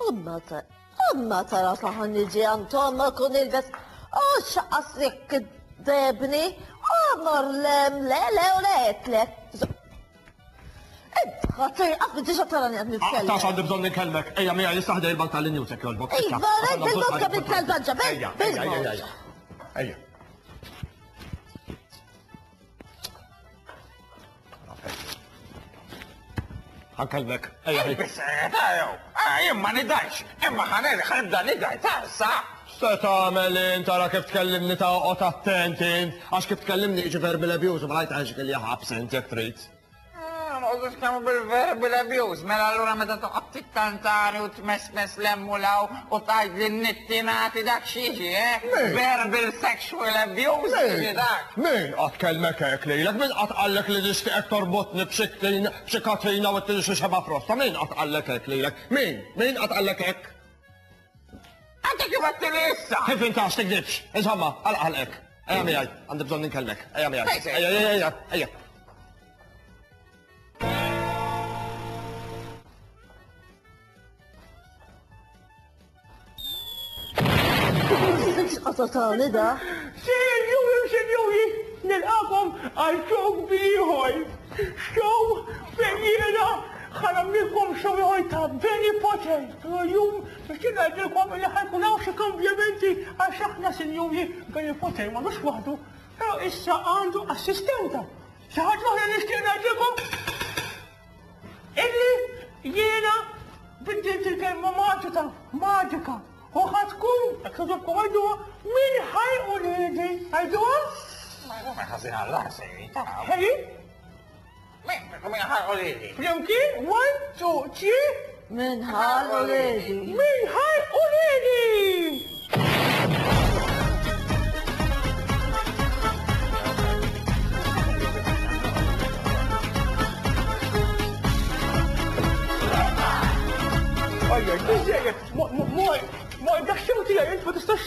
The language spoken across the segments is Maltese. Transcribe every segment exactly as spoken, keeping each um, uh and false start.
Imma ta' imma tara saħan niġi għand ommok u nilbes. U xaqqas jekk debni. Omor lem, le, le, u le, le. Ħatir, għaf diġa tarani għad nitkellem. Tax għandi bżonn nitkellmek. Ejja, mija, jistaħdej il-bank tal-Newsek jogħġbok. Iva, rejt il-bank bil-salvaġġa, Ejja, ejja, ejja, ejja. Ejja. Ħankellmek. Ejja, ejja. Biss, jew. Jien ma nidajx. Imma ħaneri ħanibda nidaj ta' sa. Se tagħmel int tara kif tkellimni ta' oqgħod attent int, għax kif tkellimni jiġi verbal abuse u ma lajt għax li ħabs int jekk trid. Noqogħdu tkellmu bil-verbal abuse, mela allura meta toqgħod tittantani u tmesmes l-emmulaw u tgħid li nittinati dak x'jiġi, eh? Verbal sexual abuse jiġi dak. Min qatt kellmek hekk lilek, min qatt qallek li nixtieqek torbotni b'xi b'xi katina u ttini xi xeba frosta, min qatt qallek hekk lilek? Min? Min qatt qallek hekk? Għandek kif għedtili issa. Kif inta għax tikdibx? Insomma, għalaq ħalqek. Ejja miegħi, għandi bżonn ninkellmek. Ejja miegħi. Ejja, ejja, ejja, ejja. X'qatatani da? Sinjuri u sinjuri, nilqakom għal show ieħor. Show fejn jiena ħa nagħmlilkom show ieħor ta' Benny Potter. Illum biex ngħidilkom li ħa jkun hawn xi kambjamenti għax aħna sinjuri Benny Potter m'għandux waħdu, però issa għandu assistenta. Xi ħaġa oħra nixtieq ngħidilkom illi jiena biddilt il-kelma maġika, maġika. U ħa tkun, jekk togħġobkom għajduha, min ħaj uliedi, għajduha? Ma jkun ħażin għall-rasi, ta' Hey, Min ħaj uliedi. flimkien, one, two, three, Min ħal uliedi. min ħaj uliedi! Ajja, biżejjed, moj, moj, dak xew tiegħi int ma tistax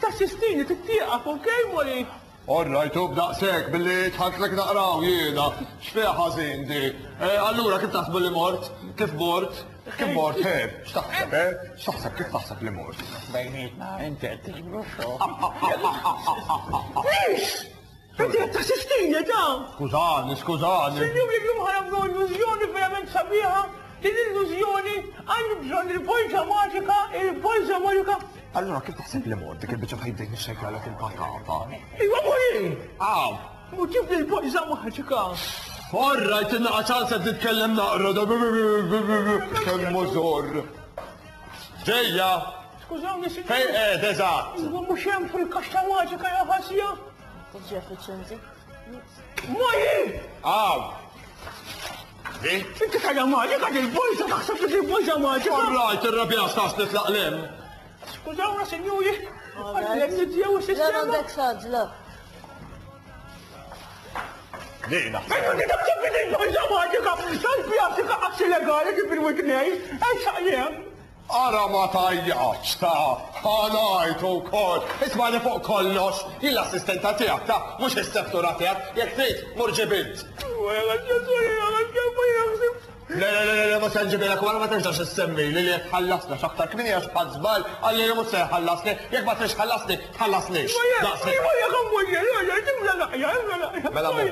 tassistini, tittieqaf, okej, Molly? All right, u b'daqshekk billi tħantlek naqraw jiena. X'fiha ħażin di? Eh, Allura kif taħsbu li mort? Kif mort? Kif mort, he? X'taħseb, eh? X'taħseb, kif taħseb li mort? Bejnietna, inti qed tiġbru show. Please! Inti qed tassistini, ta' Skużani, skużani. Sinjuri, llum ħa nagħmlu illużjoni verament sabiħa. Din illużjoni għandi bżonn il-bolza maġika, il-bolza maġika. Allura kif taħseb li mort? Dik il-biċċa fejn bdejt nixxejklalek il-patata. Iva, Molly! Aw! Mu ġib il-bolza maġika. All right, innaqa ċans qed nitkellem naqra. Kemm mużur. Ġejja! Skużawni, Fejn sinjuri. qed eżatt? Iva, mhux hemm fil-kaxxa maġika ja ħasja. Tiġi effiċjenti. Molly! Aw! Di? Inti tajja maġika il-bolza, taħseb li il-bolza maġika. All right, irrabjat tax nitlaq lem. Skużawna, sinjuri. Għallem nidjew Le is-sistema. m'għandek xaġla. Dina. Ejju, inti taħseb li il-bolza maġika. Tal-pjastika qas illegali kif il-witnej. Ejja, jem. Ara ma tajjaċ ta' ħanajt u kol. Ismani fuq kollox, jien l-assistenta tiegħek ta' mhux is-settura tiegħek, jekk trid mur ġibilt. Le, le, le, le, ma se nġibilek wara ma terġax issemmi li li jekk ħallasna x'aktar kmieni għax ħadd żball qalli li mhux se jħallasni, jekk ma trix ħallasni, tħallasnix. Daqshekk. Mela mur.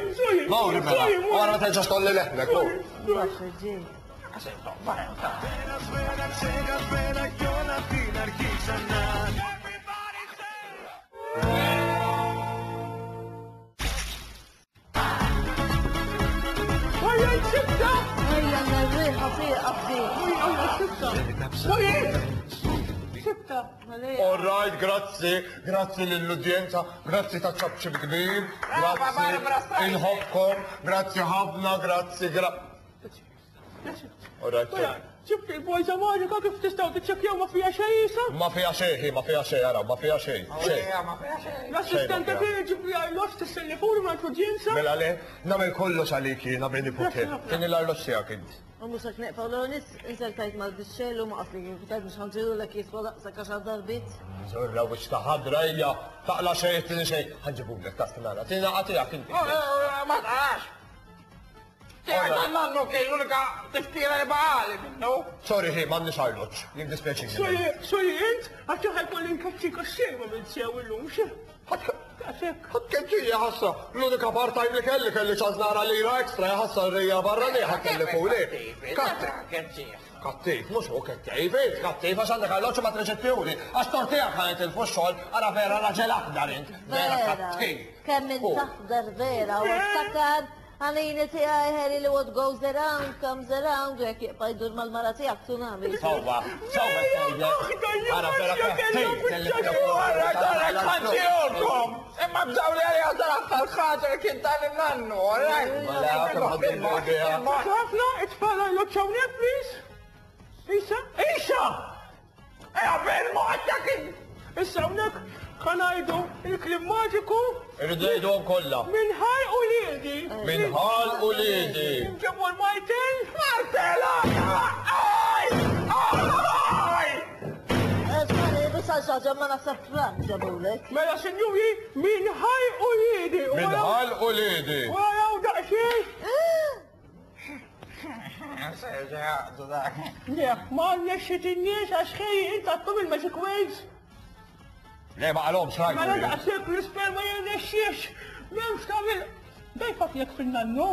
Mur mela. Wara ma terġax tolli leħnek, mur. Baxx ġej. Σφαίρα, σφαίρα, ξεχασμένα κι όλα απ' την αρχή ξανά. Ejja nerriħa tieqaf di. All right, grazzi, grazzi lill-udjenza, grazzi ta' ċabċib kbir, Brava, Barbara grazzi, Streisand. inħobkom, grazzi ħafna, grazzi, gra... All right, sorry. Ġibt il-bolza maġika kif tistgħu tiċċekkjaw ma fija xejn issa? Ma fija xejn, ma fija xejn, ara, ma fija xejn, xejn. Ma fiha xejn. L-assistenta tiegħi ġib li arloġġ tissellifuni ma' l-udjenza. Mela le, nagħmel kollox għalik jiena bejn nipote. Tieni l-arloġġ tiegħek int. U mhux hekk neqpaw l-għonis, insertajt mal-biċċel u ma qasli kif tajt mhux ħanġilu lek jiswa daqshekk għaxar darbit. Zorra wiċċ ta' ħadra hija, taqla xejn, tieni xejn, ħanġibulek ta' stinara. Tieni naqa tiegħek inti. Ma taqax. Tiegħek tan-nannu kien l-unika tifkira li baqali minnu. Sorry, ħi, m'għandniex arloġġ. Jiddispjaċini. Sorry, sorry, int, għax ħajkolli nkaċċik għax-xejn ma minn sew illum, xe? Għasek. Ħadd keġġija ħassa, l-unika part-time li kelli kelli ċans nara lira ekstra ħassa rija barra li ħadd kelli fuli. Kattiv. Kattiv, mhux hu kattiv, int kattiv għax għandek arloġġ ma treġettihuli. Għax tortijak ħanet il-fuxxol, ara vera raġel aħdar int. Vera kattiv. Kemm int aħdar vera u ftakar għalini tiegħi Harry li what goes around comes around u jekk jibqa' jdur mal-mara tiegħek tsunami. Sewwa, sewwa tgħidlek. Ara vera kattiv. Ara darek ħantijolkom! Imma bżaw li għalija tal-aħħar ħaġa li kien tal-nannu, alright? Ħafna, it-tfal arloġġ hawnhekk, please. Isa, Isa! Ejja, bil-mod dak Issa hawnhekk ħa ngħidu il-kliem maġiku Irridu ngħiduhom kollha. minn ħal u liedi. Minn ħal u liedi. Ġebu l-martel. Martel! Aj! Aj! Sorry, biss għal xi ħaġa ma naħseb Frank ġabulek. Mela, sinjuri, minn ħal u liedi. Minn ħal u liedi. Waraw daqsxejn. Le, ma rnexxitinniex għax ħej int għattom il-magic words. Le, ma qalhomx Mela rajtu. daqshekk l-ispell ma jirnexxiex. M'hemmx tagħmel. Dejfak jekk fin-nannu.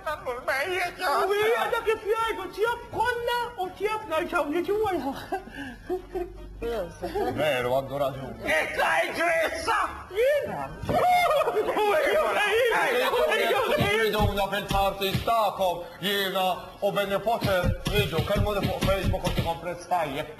Nannu l-mejjet! U hija dak kif jgħidu tjab konna u tjab nerġgħu niġu wara. Veru, għandu raġun. Itla ġrissa! Jien? Riduna fil-parties tagħkom, jiena u Benny Potter, ridu, kellmuni fuq Facebook u tikom prezz tajjeb.